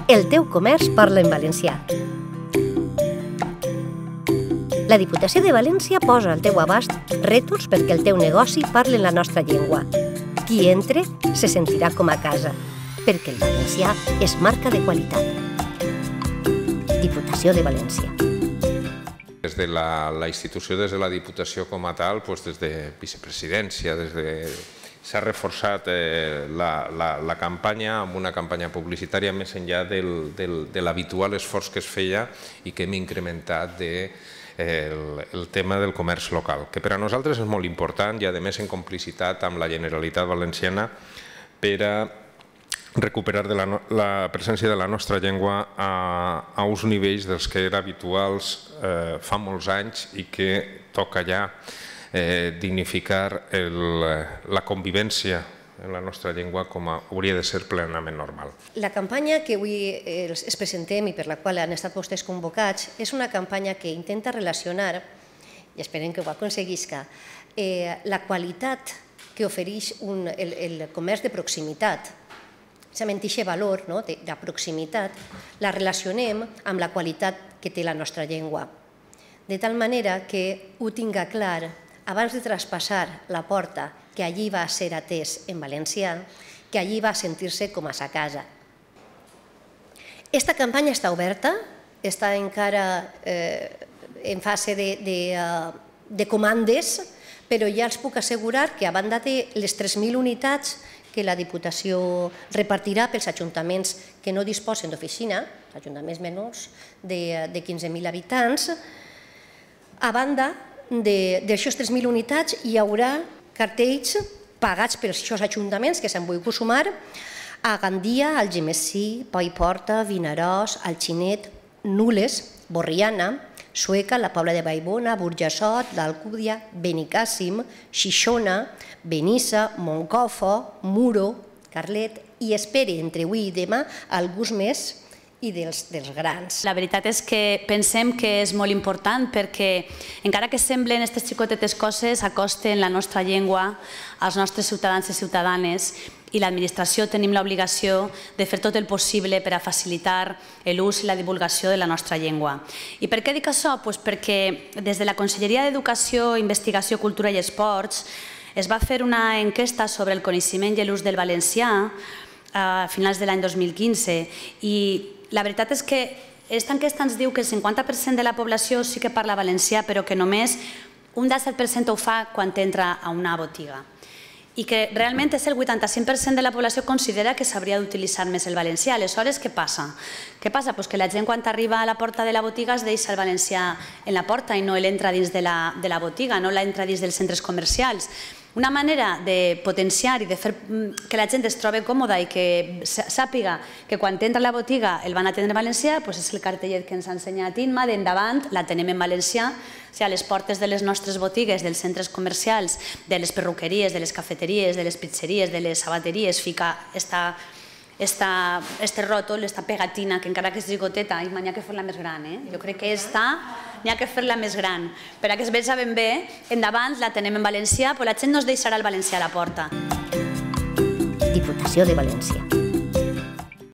El teu comerç parla en valencià. La Diputació de València posa al teu abast rètols perquè el teu negoci parli en la nostra llengua. Qui entre se sentirà com a casa, perquè el valencià és marca de qualitat. Diputació de València. Des de la institució, des de la Diputació com a tal, des de vicepresidència, s'ha reforçat la campanya amb una campanya publicitària més enllà de l'habitual esforç que es feia i que hem incrementat el tema del comerç local, que per a nosaltres és molt important i a més en complicitat amb la Generalitat Valenciana per a recuperar la presència de la nostra llengua a uns nivells dels que eren habituals fa molts anys i que toca ja dignificar la convivència en la nostra llengua com hauria de ser plenament normal. La campanya que avui es presentem i per la qual han estat vostès convocats és una campanya que intenta relacionar, i esperem que ho aconseguisca, la qualitat que ofereix el comerç de proximitat, precisament aquest valor de proximitat, la relacionem amb la qualitat que té la nostra llengua. De tal manera que ho tinga clar abans de traspassar la porta, que allí va ser atès en valencià, que allí va sentir-se com a sa casa. Esta campanya està oberta, està encara en fase de comandes, però ja els puc assegurar que a banda de les 3.000 unitats que la Diputació repartirà pels ajuntaments que no disposen d'oficina, ajuntaments menors de 15.000 habitants, a banda d'aixòs 3.000 unitats hi haurà cartells pagats per aquests ajuntaments que s'han volgut sumar a Gandia, Algemesí, Paiporta, Vinaròs, Alginet, Nules, Borriana, Sueca, la Pobla de Vallbona, Burjassot, l'Alcúdia, Benicàssim, Xixona, Benissa, Moncofa, Muro, Carlet i espere entre avui i demà alguns més i dels grans. La veritat és que pensem que és molt important perquè encara que semblen aquestes xicotetes coses acosten la nostra llengua als nostres ciutadans i ciutadanes i l'administració tenim l'obligació de fer tot el possible per a facilitar l'ús i la divulgació de la nostra llengua. I per què dic això? Perquè des de la Conselleria d'Educació, Investigació, Cultura i Esports es va fer una enquesta sobre el coneixement i l'ús del valencià a finals de l'any 2015 i la veritat és que aquesta enquesta ens diu que el 50% de la població sí que parla valencià, però que només un 17% ho fa quan entra a una botiga. I que realment és el 85% de la població que considera que s'hauria d'utilitzar més el valencià. Aleshores, què passa? Què passa? Que la gent quan arriba a la porta de la botiga es deixa el valencià en la porta i no l'entra dins de la botiga, no l'entra dins dels centres comercials. Una manera de potenciar i de fer que la gent es trobi còmoda i que sàpiga que quan entra a la botiga el van atendre en valencià és el cartellet que ens ha ensenyat Imma, d'endavant la tenem en valencià, a les portes de les nostres botigues, dels centres comercials, de les perruqueries, de les cafeteries, de les pizzeries, de les sabateries, fica este ròtol, esta pegatina, que encara que és gigoteta, n'hi ha que fer-la més gran. Jo crec que n'hi ha que fer-la més gran. Per a que es veja ben bé, endavant la tenem en valencià, però la gent no es deixarà el valencià a la porta. Diputació de València.